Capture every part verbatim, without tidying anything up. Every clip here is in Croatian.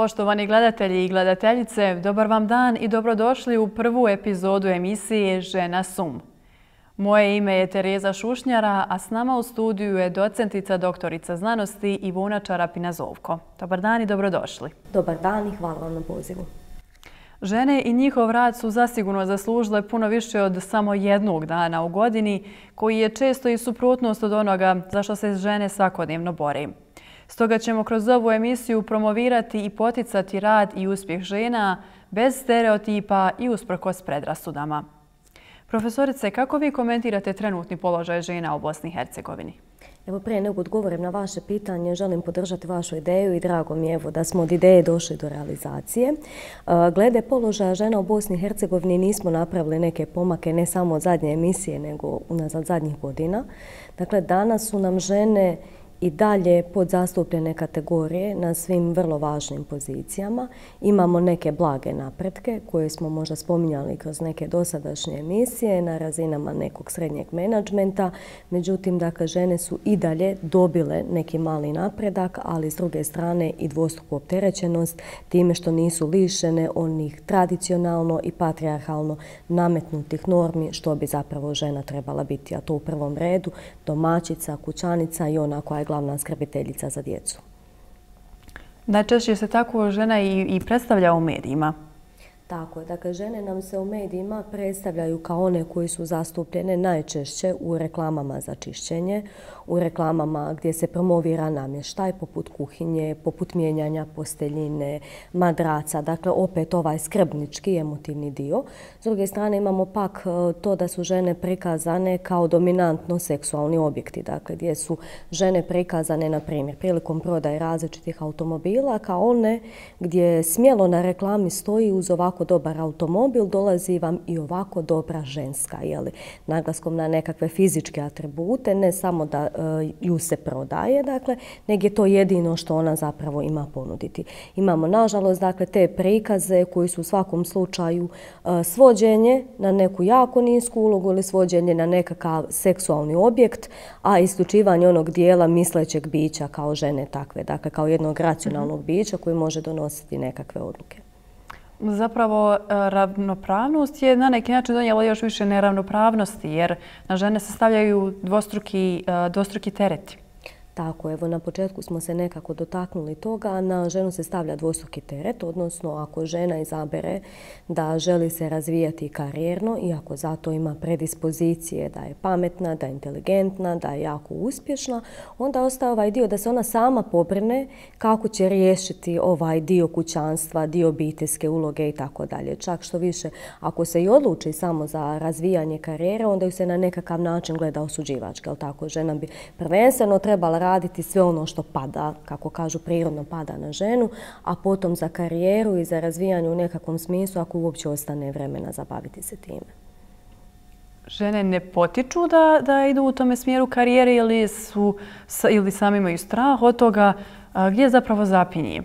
Poštovani gledatelji i gledateljice, dobar vam dan i dobrodošli u prvu epizodu emisije Žena S U M. Moje ime je Tereza Šušnjara, a s nama u studiju je docentica doktorica znanosti Ivona Čarapina-Zovko. Dobar dan i dobrodošli. Dobar dan i hvala vam na pozivu. Žene i njihov rad su zasigurno zaslužile puno više od samo jednog dana u godini, koji je često i suprotnost od onoga za što se žene svakodnevno bore. Stoga ćemo kroz ovu emisiju promovirati i poticati rad i uspjeh žena bez stereotipa i usprkos predrasudama. Profesorice, kako vi komentirate trenutni položaj žena u Bosni i Hercegovini? Evo, prije nego odgovorim na vaše pitanje, želim podržati vašu ideju i drago mi je evo da smo od ideje došli do realizacije. Glede položaja žena u Bosni i Hercegovini nismo napravili neke pomake ne samo od zadnje emisije, nego unazad zadnjih godina. Dakle, danas su nam žene i dalje podzastupljene kategorije na svim vrlo važnim pozicijama. Imamo neke blage napretke koje smo možda spominjali kroz neke dosadašnje emisije na razinama nekog srednjeg menadžmenta. Međutim, dakle, žene su i dalje dobile neki mali napredak, ali s druge strane i dvostruku opterećenost time što nisu lišene onih tradicionalno i patrijarhalno nametnutih normi što bi zapravo žena trebala biti, a to u prvom redu domaćica, kućanica i ona koja je glavna skrbiteljica za djecu. Najčešće se tako žena i, i predstavlja u medijima. Tako je. Dakle, žene nam se u medijima predstavljaju kao one koji su zastupljene najčešće u reklamama za čišćenje, u reklamama gdje se promovira namještaj poput kuhinje, poput mijenjanja posteljine, madraca, dakle opet ovaj skrbnički emotivni dio. S druge strane imamo pak to da su žene prikazane kao dominantno seksualni objekti, dakle gdje su žene prikazane, na primjer, prilikom prodaje različitih automobila kao one gdje smjelo na reklami stoji uz ovako dobar automobil dolazi vam i ovako dobra ženska, jeli, naglaskom na nekakve fizičke atribute, ne samo da e, ju se prodaje, dakle, nego je to jedino što ona zapravo ima ponuditi. Imamo, nažalost, dakle, te prikaze koji su u svakom slučaju e, svođenje na neku jako nisku ulogu ili svođenje na nekakav seksualni objekt, a isključivanje onog dijela mislećeg bića kao žene takve, dakle, kao jednog racionalnog bića koji može donositi nekakve odluke. Zapravo, ravnopravnost je na neki način donijela još više neravnopravnosti, jer na žene se stavljaju dvostruki, dvostruki tereti. Tako, evo, na početku smo se nekako dotaknuli toga, a na ženu se stavlja dvostruki teret, odnosno ako žena izabere da želi se razvijati karijerno i ako zato ima predispozicije da je pametna, da je inteligentna, da je jako uspješna, onda ostaje ovaj dio da se ona sama pobrine kako će riješiti ovaj dio kućanstva, dio obiteljske uloge i tako dalje. Čak što više, ako se i odluči samo za razvijanje karijere, onda ju se na nekakav način gleda osuđivački, ali tako, žena bi prvenstveno trebala raditi sve ono što pada, kako kažu, prirodno pada na ženu, a potom za karijeru i za razvijanje u nekakvom smislu ako uopće ostane vremena zabaviti se time. Žene ne potiču da, da idu u tome smjeru karijere ili, su, ili sami imaju strah od toga? Gdje zapravo zapinje?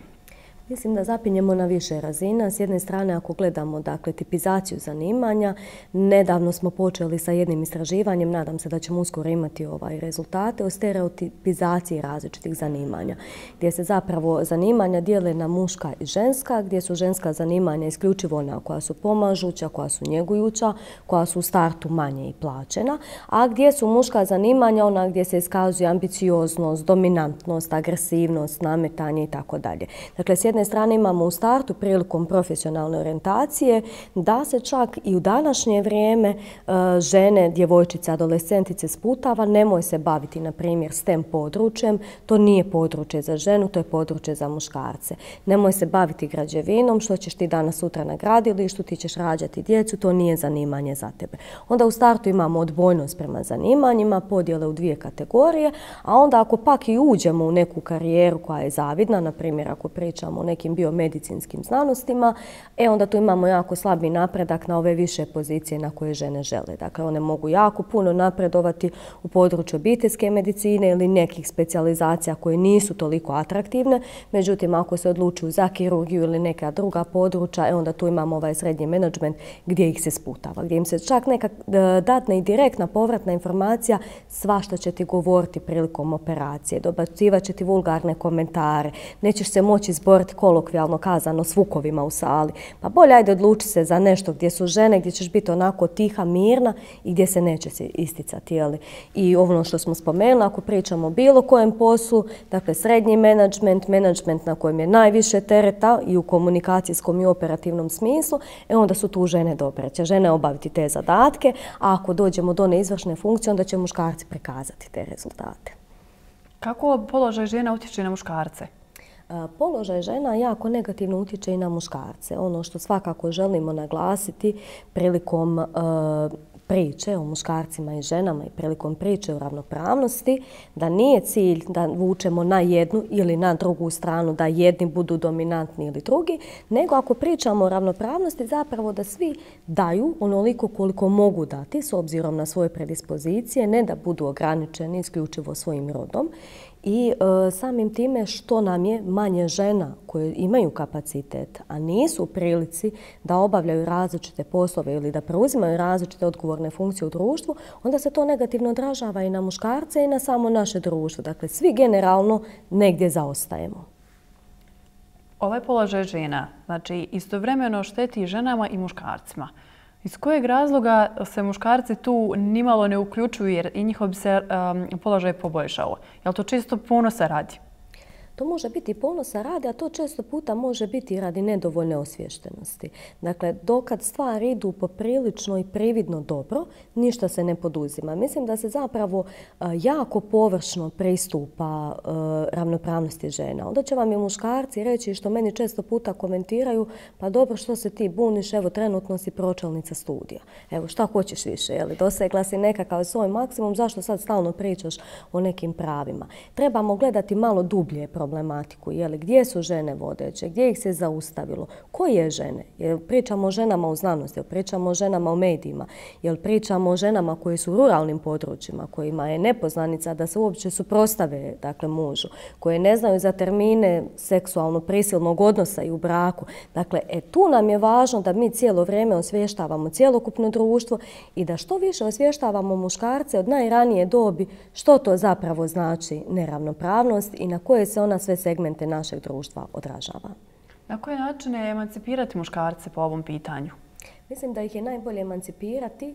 Mislim da zapinjemo na više razina. S jedne strane, ako gledamo, dakle, tipizaciju zanimanja, nedavno smo počeli sa jednim istraživanjem, nadam se da ćemo uskoro imati ovaj rezultate o stereotipizaciji različitih zanimanja, gdje se zapravo zanimanja dijele na muška i ženska, gdje su ženska zanimanja isključivo ona koja su pomažuća, koja su njegujuća, koja su u startu manje i plaćena, a gdje su muška zanimanja ona gdje se iskazuje ambicioznost, dominantnost, agresivnost, nametanje i tako dalje. Dakle, s jedne strane imamo u startu prilikom profesionalne orijentacije da se čak i u današnje vrijeme žene, djevojčice, adolescentice sputava, nemoj se baviti, na primjer, S T E M područjem, to nije područje za ženu, to je područje za muškarce. Nemoj se baviti građevinom, što ćeš ti danas sutra na gradilištu, ti ćeš rađati djecu, to nije zanimanje za tebe. Onda u startu imamo odbojnost prema zanimanjima, podjele u dvije kategorije, a onda ako pak i uđemo u neku karijeru koja je zavidna, na primjer ako pričamo o nekim biomedicinskim znanostima, e onda tu imamo jako slabi napredak na ove više pozicije na koje žene žele. Dakle, one mogu jako puno napredovati u području obiteljske medicine ili nekih specijalizacija koje nisu toliko atraktivne. Međutim, ako se odlučuju za kirurgiju ili neka druga područja, e onda tu imamo ovaj srednji menadžment gdje ih se sputava, gdje im se čak neka datna i direktna povratna informacija svašta će ti govoriti prilikom operacije, dobacivat će ti vulgarne komentare, nećeš se moći izboriti govoriti kolokvijalno kazano s vukovima u sali. Pa bolje ajde odluči se za nešto gdje su žene, gdje ćeš biti onako tiha, mirna i gdje se neće se isticati. Jeli? I ono što smo spomenuli, ako pričamo o bilo kojem poslu, dakle srednji menadžment, menadžment na kojem je najviše tereta i u komunikacijskom i operativnom smislu, e onda su tu žene dobre. Će žene obaviti te zadatke, a ako dođemo do neizvršne funkcije, onda će muškarci prikazati te rezultate. Kako položaj žena utječe na muškarce? Položaj žena jako negativno utječe i na muškarce. Ono što svakako želimo naglasiti prilikom uh, priče o muškarcima i ženama i prilikom priče o ravnopravnosti, da nije cilj da vučemo na jednu ili na drugu stranu, da jedni budu dominantni ili drugi, nego ako pričamo o ravnopravnosti, zapravo da svi daju onoliko koliko mogu dati s obzirom na svoje predispozicije, ne da budu ograničeni isključivo svojim rodom. I e, samim time što nam je manje žena koje imaju kapacitet, a nisu u prilici da obavljaju različite poslove ili da preuzimaju različite odgovorne funkcije u društvu, onda se to negativno odražava i na muškarce i na samo naše društvo. Dakle, svi generalno negdje zaostajemo. Ovaj položaj žena, znači istovremeno šteti ženama i muškarcima. Iz kojeg razloga se muškarci tu nimalo ne uključuju jer i njihov bi se um, položaj poboljšao? Je li to čisto ponosa radi? To može biti ponosa radi, a to često puta može biti radi nedovoljne osviještenosti. Dakle, dokad stvari idu poprilično i prividno dobro, ništa se ne poduzima. Mislim da se zapravo jako površno pristupa ravnopravnosti žena. Onda će vam i muškarci reći, što meni često puta komentiraju, pa dobro, što se ti buniš, evo trenutno si pročelnica studija. Evo, šta hoćeš više, je li? Dosegla si nekakav svoj maksimum, zašto sad stalno pričaš o nekim pravima? Trebamo gledati malo dublje problematiku, je li, gdje su žene vodeće, gdje ih se zaustavilo, koje žene, jel pričamo o ženama u znanosti, jel pričamo o ženama u medijima, jel pričamo o ženama koje su u ruralnim područjima, kojima je nepoznanica da se uopće suprotstave, dakle, mužu, koje ne znaju za termine seksualno prisilnog odnosa i u braku. Dakle, e, tu nam je važno da mi cijelo vrijeme osvještavamo cjelokupno društvo i da što više osvještavamo muškarce od najranije dobi što to zapravo znači neravnopravnost i na koje se ona sve segmente našeg društva odražava. Na koje načine emancipirati muškarce po ovom pitanju? Mislim da ih je najbolje emancipirati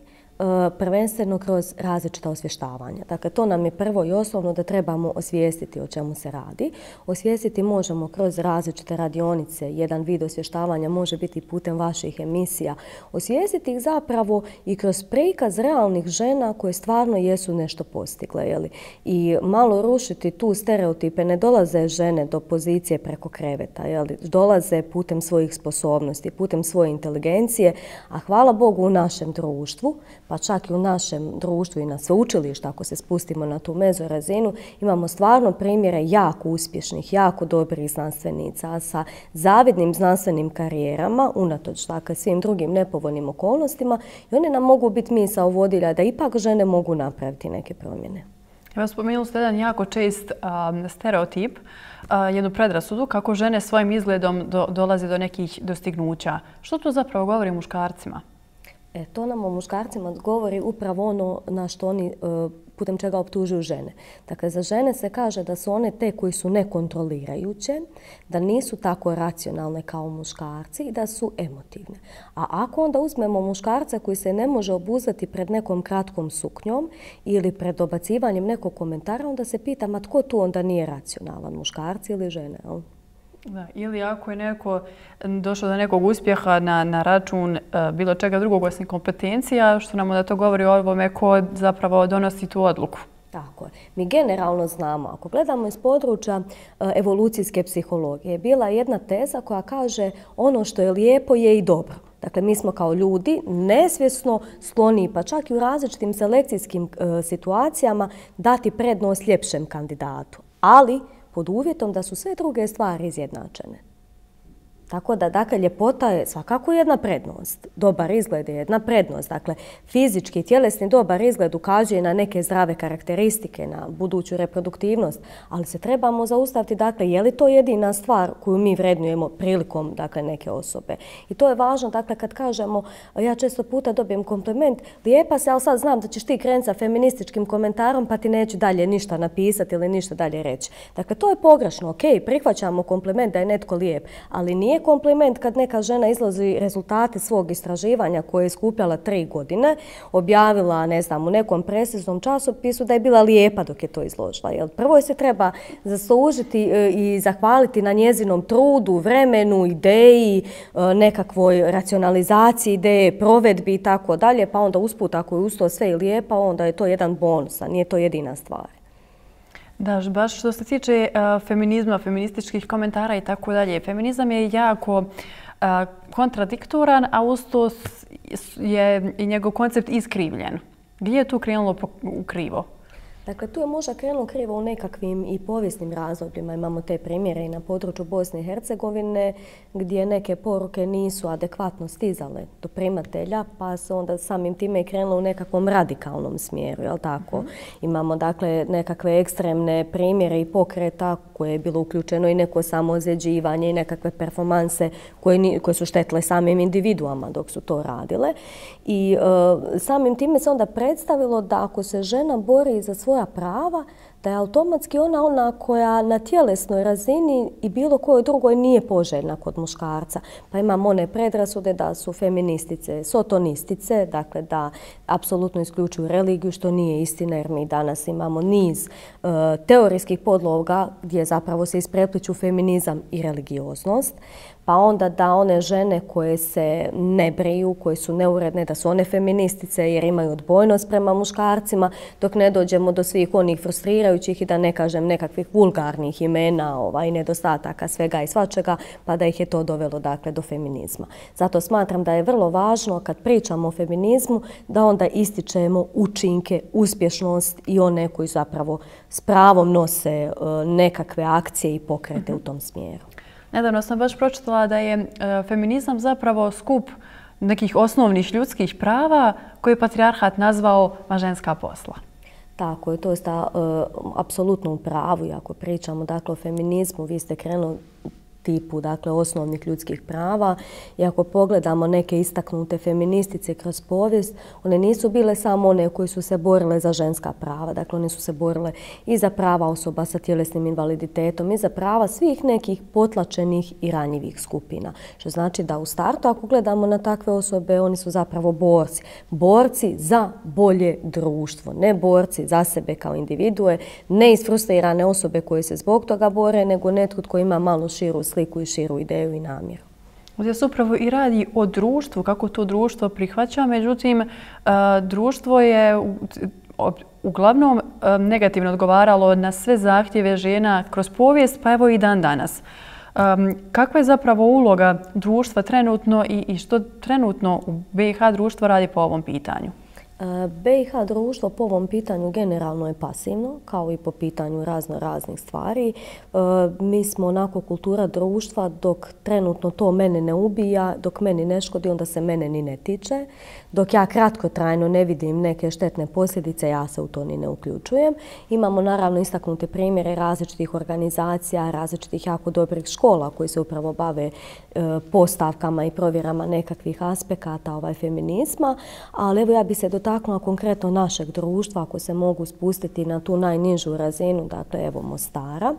prvenstveno kroz različita osvještavanja. Dakle, to nam je prvo i osnovno da trebamo osvijestiti o čemu se radi. Osvijestiti možemo kroz različite radionice. Jedan vid osvještavanja može biti putem vaših emisija. Osvijestiti ih zapravo i kroz prikaz realnih žena koje stvarno jesu nešto postigle. Jeli? I malo rušiti tu stereotipe. Ne dolaze žene do pozicije preko kreveta. Jeli? Dolaze putem svojih sposobnosti, putem svoje inteligencije. A hvala Bogu u našem društvu, pa čak i u našem društvu i na sveučilištu, ako se spustimo na tu mezo razinu, imamo stvarno primjere jako uspješnih, jako dobrih znanstvenica sa zavidnim znanstvenim karijerama, unatoč dakle, svim drugim nepovoljnim okolnostima, i one nam mogu biti misao vodilja da ipak žene mogu napraviti neke promjene. Evo, spomenuli ste jedan jako čest um, stereotip, uh, jednu predrasudu kako žene svojim izgledom do, dolaze do nekih dostignuća. Što to zapravo govori muškarcima? E, to nam o muškarcima govori upravo ono na što oni, putem čega optužuju žene. Dakle, za žene se kaže da su one te koji su nekontrolirajuće, da nisu tako racionalne kao muškarci i da su emotivne. A ako onda uzmemo muškarca koji se ne može obuzdati pred nekom kratkom suknjom ili pred dobacivanjem nekog komentara, onda se pita, ma tko tu onda nije racionalan, muškarci ili žene? Jel? Da, ili ako je neko došao do nekog uspjeha na, na račun uh, bilo čega drugog osim kompetencija, što nam da to govori o ovome ko zapravo donosi tu odluku. Tako je. Mi generalno znamo, ako gledamo iz područja uh, evolucijske psihologije, bila je jedna teza koja kaže ono što je lijepo je i dobro. Dakle, mi smo kao ljudi nesvjesno skloni, pa čak i u različitim selekcijskim uh, situacijama, dati prednost ljepšem kandidatu. Ali pod uvjetom da su sve druge stvari izjednačene. Tako da, dakle, ljepota je svakako jedna prednost. Dobar izgled je jedna prednost. Dakle, fizički, tjelesni dobar izgled ukazuje na neke zdrave karakteristike, na buduću reproduktivnost, ali se trebamo zaustaviti, dakle, je li to jedina stvar koju mi vrednujemo prilikom, dakle, neke osobe. I to je važno, dakle, kad kažemo, ja često puta dobijem kompliment, lijepa se, ali sad znam da ćeš ti krenuti sa feminističkim komentarom, pa ti neću dalje ništa napisati ili ništa dalje reći. Dakle, to je pogrešno. Ok, prihvaćamo kompliment da je netko lijep, ali nije kompliment kad neka žena izlazi rezultate svog istraživanja koje je skupljala tri godine, objavila, ne znam, u nekom presiznom časopisu da je bila lijepa dok je to izložila. Jer prvo je se treba zaslužiti i zahvaliti na njezinom trudu, vremenu, ideji, nekakvoj racionalizaciji ideje, provedbi i tako dalje, pa onda usput ako je uz to sve i lijepa, onda je to jedan bonus, a nije to jedina stvar. Da, baš što se tiče uh, feminizma, feminističkih komentara i tako dalje. Feminizam je jako uh, kontradiktoran, a uz to je i njegov koncept iskrivljen. Gdje je tu krenulo u krivo? Dakle, tu je možda krenulo krivo u nekakvim i povijesnim razdobljima. Imamo te primjere i na području Bosne i Hercegovine gdje neke poruke nisu adekvatno stizale do primatelja, pa se onda samim time i krenulo u nekakvom radikalnom smjeru, jel tako? Mm-hmm. Imamo, dakle, nekakve ekstremne primjere i pokreta koje je bilo uključeno i neko samoozljeđivanje i nekakve performanse koje, koje su štetile samim individuama dok su to radile. I e, samim time se onda predstavilo da ako se žena bori za svoja prava, da je automatski ona ona koja na tjelesnoj razini i bilo kojoj drugoj nije poželjna kod muškarca. Pa imamo one predrasude da su feministice, sotonistice, dakle da apsolutno isključuju religiju, što nije istina jer mi danas imamo niz uh, teorijskih podloga gdje zapravo se isprepliču feminizam i religioznost. Pa onda da one žene koje se ne briju, koje su neuredne, da su one feministice jer imaju odbojnost prema muškarcima, dok ne dođemo do svih onih frustrirajućih i da ne kažem nekakvih vulgarnih imena ovaj, nedostataka svega i svačega, pa da ih je to dovelo dakle, do feminizma. Zato smatram da je vrlo važno kad pričamo o feminizmu da onda ističemo učinke, uspješnost i one koji zapravo s pravom nose uh, nekakve akcije i pokrete u tom smjeru. Nedavno sam baš pročitala da je feminizam zapravo skup nekih osnovnih ljudskih prava koje je patrijarhat nazvao ženska posla. Tako je, to je sta, uh, apsolutno u pravu. I ako pričamo dakle, o feminizmu, vi ste krenuli tipu dakle, osnovnih ljudskih prava. I ako pogledamo neke istaknute feministice kroz povijest, one nisu bile samo one koje su se borile za ženska prava. Dakle, one su se borile i za prava osoba sa tjelesnim invaliditetom i za prava svih nekih potlačenih i ranjivih skupina. Što znači da u startu, ako gledamo na takve osobe, oni su zapravo borci. Borci za bolje društvo. Ne borci za sebe kao individue, ne isfrustrirane osobe koje se zbog toga bore, nego netko tko ima malo širu sliku i širu ideju i namjeru. Ovdje se upravo i radi o društvu, kako to društvo prihvaća, međutim, društvo je uglavnom negativno odgovaralo na sve zahtjeve žena kroz povijest, pa evo i dan danas. Kakva je zapravo uloga društva trenutno i što trenutno u B i H društvo radi po ovom pitanju? B i H društvo po ovom pitanju generalno je pasivno, kao i po pitanju razno raznih stvari. Mi smo onako kultura društva dok trenutno to mene ne ubija, dok meni ne škodi, onda se mene ni ne tiče. Dok ja kratkotrajno ne vidim neke štetne posljedice, ja se u to ni ne uključujem. Imamo naravno istaknute primjere različitih organizacija, različitih jako dobrih škola koji se upravo bave postavkama i provjerama nekakvih aspekata ovaj feminizma, ali evo ja bi se dotaknula konkretno našeg društva, ako se mogu spustiti na tu najnižu razinu, dakle evo Mostara.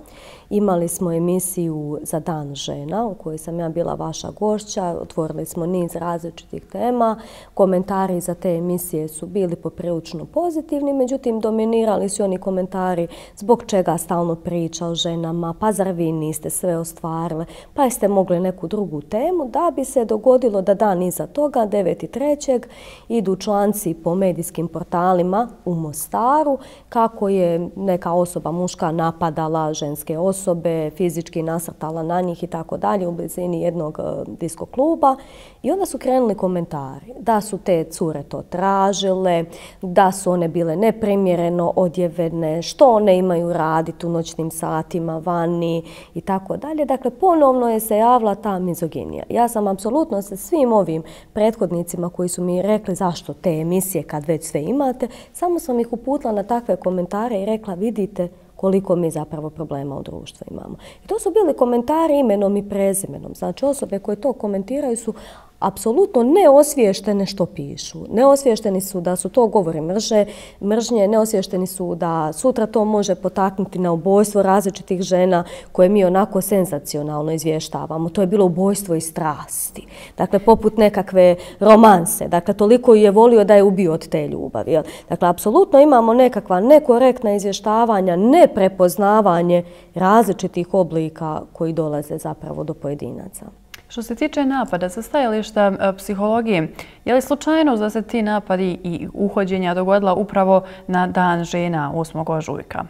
Imali smo emisiju za Dan žena u kojoj sam ja bila vaša gošća, otvorili smo niz različitih tema, komentari za te emisije su bili poprilično pozitivni, međutim dominirali su oni komentari zbog čega stalno priča o ženama, pa zar vi niste sve ostvarile, pa jeste mogli neku drugu temu, da bi se dogodilo da dan iza toga, deveti trećeg idu članci po medijskim portalima u Mostaru kako je neka osoba muška napadala ženske osobe, fizički nasrtala na njih i tako dalje u blizini jednog disko kluba. I onda su krenuli komentari da su te cure to tražile, da su one bile neprimjereno odjevene, što one imaju raditi u noćnim satima vani i tako dalje. Dakle, ponovno je se javila ta mizoginija. Ja sam apsolutno sa svim ovim prethodnicima koji su mi rekli zašto te emisije kad već sve imate, samo sam ih uputila na takve komentare i rekla vidite koliko mi zapravo problema u društvu imamo. I to su bili komentari imenom i prezimenom. Znači osobe koje to komentiraju su apsolutno neosviještene što pišu. Neosviješteni su da su to govori mrže, mržnje, neosviješteni su da sutra to može potaknuti na ubojstvo različitih žena koje mi onako senzacionalno izvještavamo. To je bilo ubojstvo iz strasti. Dakle, poput nekakve romanse. Dakle, toliko je volio da je ubio od te ljubavi. Dakle, apsolutno imamo nekakva nekorektna izvještavanja, neprepoznavanje različitih oblika koji dolaze zapravo do pojedinaca. Što se tiče napada sa stajališta psihologije, je li slučajno da se ti napadi i uhođenja dogodila upravo na Dan žena osmog ožujka?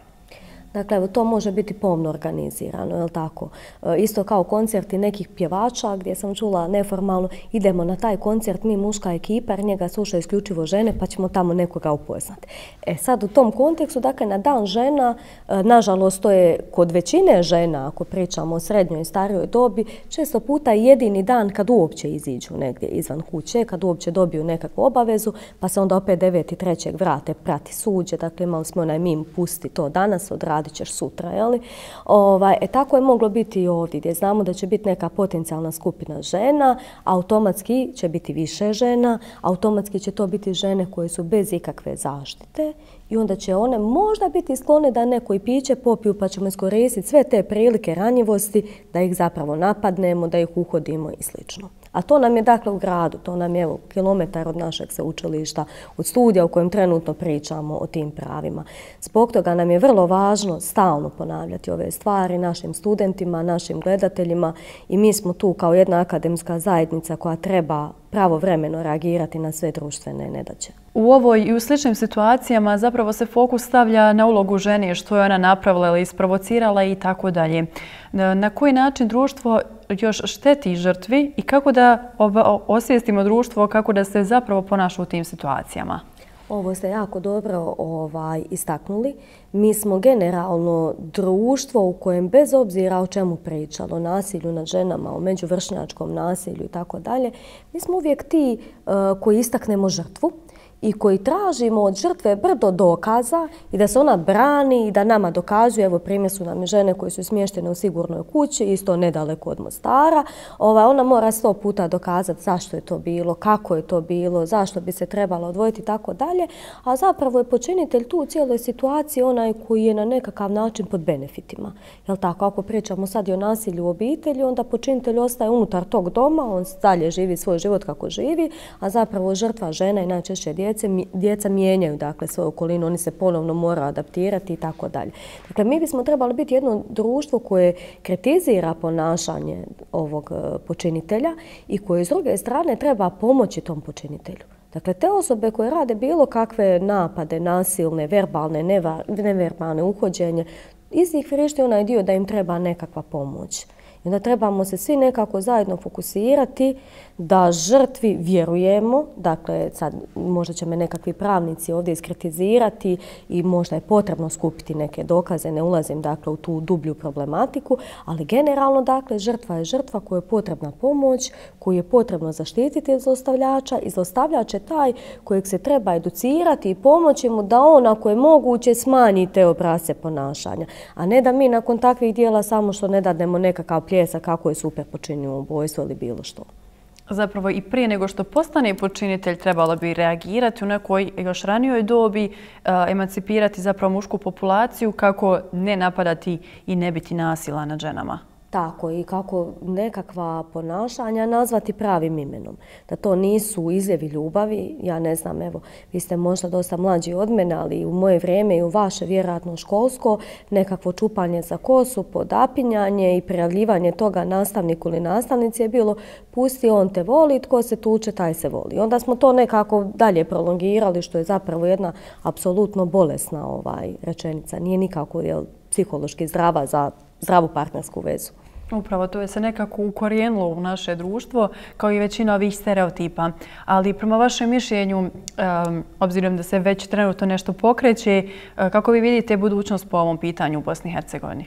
Dakle, evo, to može biti pomno organizirano, je li tako? Isto kao koncerti nekih pjevača gdje sam čula neformalno idemo na taj koncert, mi muška ekipa, jer njega slušaju isključivo žene pa ćemo tamo nekoga upoznati. E sad u tom kontekstu, dakle, na Dan žena, nažalost, to je kod većine žena, ako pričamo o srednjoj i starijoj dobi, često puta jedini dan kad uopće iziđu negdje izvan kuće, kad uopće dobiju nekakvu obavezu, pa se onda opet deveti trećeg vrate prati suđe. Dakle, imali smo onaj mim pusti to danas, odradit ćeš sutra, jeli? Ovaj, e, tako je moglo biti i ovdje, gdje znamo da će biti neka potencijalna skupina žena, automatski će biti više žena, automatski će to biti žene koje su bez ikakve zaštite i onda će one možda biti sklone da neko i piće popiju pa ćemo iskoristiti sve te prilike ranjivosti da ih zapravo napadnemo, da ih uhodimo i slično. A to nam je dakle u gradu, to nam je evo, kilometar od našeg sveučilišta, od studija u kojem trenutno pričamo o tim pravima. Zbog toga nam je vrlo važno stalno ponavljati ove stvari našim studentima, našim gledateljima i mi smo tu kao jedna akademska zajednica koja treba pravovremeno reagirati na sve društvene nedaće. U ovoj i u sličnim situacijama zapravo se fokus stavlja na ulogu žene, što je ona napravila ili isprovocirala i tako dalje. Na koji način društvo još šteti žrtvi i kako da osvijestimo društvo kako da se zapravo ponaša u tim situacijama? Ovo ste jako dobro ovaj, istaknuli. Mi smo generalno društvo u kojem bez obzira o čemu pričalo, o nasilju nad ženama, o međuvršnjačkom nasilju i tako dalje, mi smo uvijek ti uh, koji istaknemo žrtvu i koji tražimo od žrtve brdo dokaza i da se ona brani i da nama dokazuje. Evo primjer su nam žene koje su smještene u sigurnoj kući, isto nedaleko od Mostara. Ova, ona mora sto puta dokazati zašto je to bilo, kako je to bilo, zašto bi se trebalo odvojiti i tako dalje. A zapravo je počinitelj tu u cijeloj situaciji onaj koji je na nekakav način pod benefitima. Jel tako? Ako pričamo sad i o nasilju u obitelji, onda počinitelj ostaje unutar tog doma, on dalje živi svoj život kako živi, a zapravo žrtva žena i najčešće djeca Djeca mijenjaju dakle svoju okolinu, oni se ponovno moraju adaptirati i tako dalje. Dakle, mi bismo trebali biti jedno društvo koje kritizira ponašanje ovog počinitelja i koje s druge strane treba pomoći tom počinitelju. Dakle, te osobe koje rade bilo kakve napade, nasilne, verbalne, neverbalne uhođenje, iz njih vrišti onaj dio da im treba nekakva pomoć. I onda trebamo se svi nekako zajedno fokusirati da žrtvi vjerujemo, dakle sad možda će me nekakvi pravnici ovdje iskritizirati i možda je potrebno skupiti neke dokaze, ne ulazim dakle u tu dublju problematiku, ali generalno dakle žrtva je žrtva kojoj je potrebna pomoć, koju je potrebno zaštititi od zlostavljača i zlostavljač je taj kojeg se treba educirati i pomoći mu da on ako je moguće smanji te obrasce ponašanja, a ne da mi nakon takvih dijela samo što ne dadnemo nekakav pljesak kako je super počinio ubojstvo ili bilo što. Zapravo i prije nego što postane počinitelj trebalo bi reagirati u nekoj još ranijoj dobi, emancipirati zapravo mušku populaciju kako ne napadati i ne biti nasila nad ženama. Tako i kako nekakva ponašanja nazvati pravim imenom. Da to nisu izljevi ljubavi, ja ne znam, evo, vi ste možda dosta mlađi od mene, ali u moje vrijeme i u vaše, vjerojatno školsko, nekakvo čupanje za kosu, podapinjanje i prijavljivanje toga nastavniku ili nastavnici je bilo pusti, on te voli, tko se tuče, taj se voli. Onda smo to nekako dalje prolongirali, što je zapravo jedna apsolutno bolesna ovaj, rečenica. Nije nikako jel, psihološki zdrava za zdravu partnersku vezu. Upravo, to je se nekako ukorijenilo u naše društvo, kao i većina ovih stereotipa. Ali prema vašem mišljenju, um, obzirom da se već trenutno nešto pokreće, uh, kako vi vidite budućnost po ovom pitanju u Bosni i Hercegovini?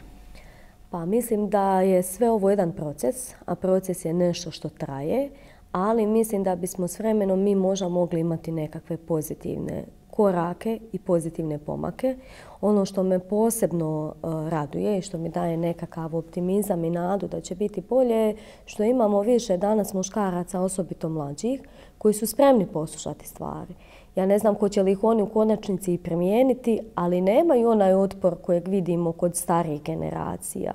Pa mislim da je sve ovo jedan proces, a proces je nešto što traje, ali mislim da bismo s vremenom mi možda mogli imati nekakve pozitivne korake i pozitivne pomake. Ono što me posebno uh, raduje i što mi daje nekakav optimizam i nadu da će biti bolje je što imamo više danas muškaraca, osobito mlađih, koji su spremni poslušati stvari. Ja ne znam hoće li ih oni u konačnici i primijeniti, ali nemaju onaj otpor kojeg vidimo kod starijih generacija.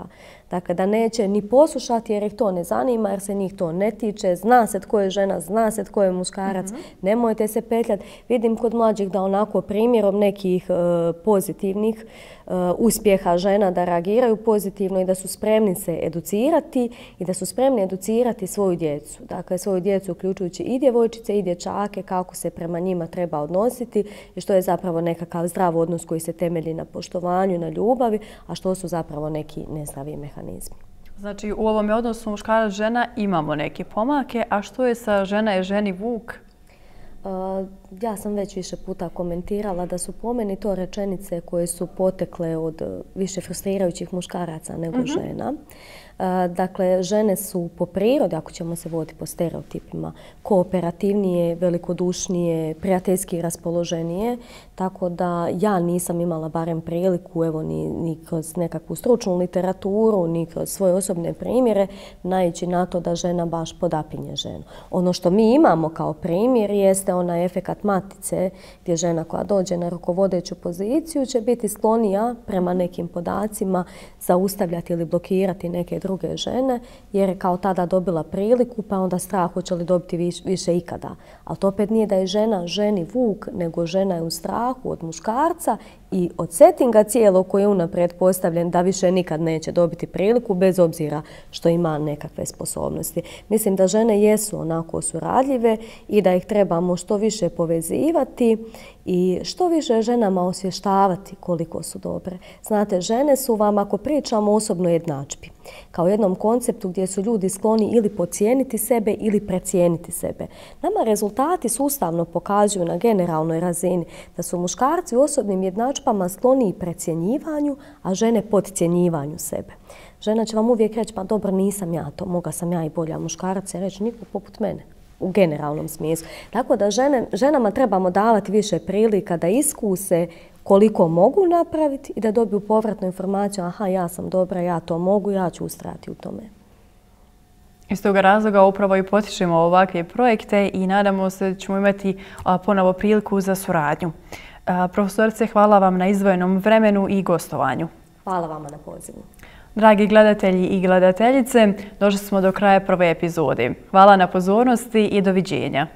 Dakle, da neće ni poslušati jer ih to ne zanima, jer se njih to ne tiče. Zna se tko je žena, zna se tko je muškarac, mm-hmm. nemojte se petljati. Vidim kod mlađih da onako primjerom nekih uh, pozitivnih uh, uspjeha žena da reagiraju pozitivno i da su spremni se educirati i da su spremni educirati svoju djecu. Dakle, svoju djecu uključujući i djevojčice i dječake, kako se prema njima treba odnositi i što je zapravo nekakav zdrav odnos koji se temelji na poštovanju, na ljubavi, a što su zapravo neki nezdravi mehanizmi. Znači, u ovom odnosu muškarac-žena imamo neke pomake, a što je sa žena je ženi vuk? Uh, ja sam već više puta komentirala da su po meni to rečenice koje su potekle od više frustrirajućih muškaraca nego mm-hmm. žena. Uh, dakle, žene su po prirodi, ako ćemo se voditi po stereotipima, kooperativnije, velikodušnije, prijateljski raspoloženije, tako da ja nisam imala barem priliku, evo, ni, ni kroz nekakvu stručnu literaturu, ni kroz svoje osobne primjere, naići na to da žena baš podapinje ženu. Ono što mi imamo kao primjer jeste onaj efekat matice, gdje žena koja dođe na rukovodeću poziciju će biti sklonija prema nekim podacima zaustavljati ili blokirati neke druge žene, jer je kao tada dobila priliku, pa onda strah hoće li dobiti više, više ikada. Ali to opet nije da je žena ženi vuk, nego žena je u strahu od muškarca i od settinga cijelog koji je unaprijed postavljen da više nikad neće dobiti priliku bez obzira što ima nekakve sposobnosti. Mislim da žene jesu onako suradljive i da ih trebamo što više povezivati i što više ženama osvještavati koliko su dobre. Znate, žene su vam, ako pričamo o osobnoj jednadžbi, kao jednom konceptu gdje su ljudi skloni ili podcijeniti sebe ili precijeniti sebe. Nama rezultati sustavno pokazuju na generalnoj razini da su muškarci u osobnim jednadžbama skloni i precjenjivanju, a žene podcjenjivanju sebe. Žena će vam uvijek reći, pa dobro, nisam ja to, moga sam ja i bolja. Muškarac će reći, niko poput mene. U generalnom smislu. Tako da žene, ženama trebamo davati više prilika da iskuse koliko mogu napraviti i da dobiju povratnu informaciju, aha, ja sam dobra, ja to mogu, ja ću ustrajati u tome. Iz toga razloga upravo i potičemo ovakve projekte i nadamo se da ćemo imati ponovo priliku za suradnju. Profesorice, hvala vam na izdvojenom vremenu i gostovanju. Hvala vama na pozivu. Dragi gledatelji i gledateljice, došli smo do kraja prve epizode. Hvala na pozornosti i doviđenja.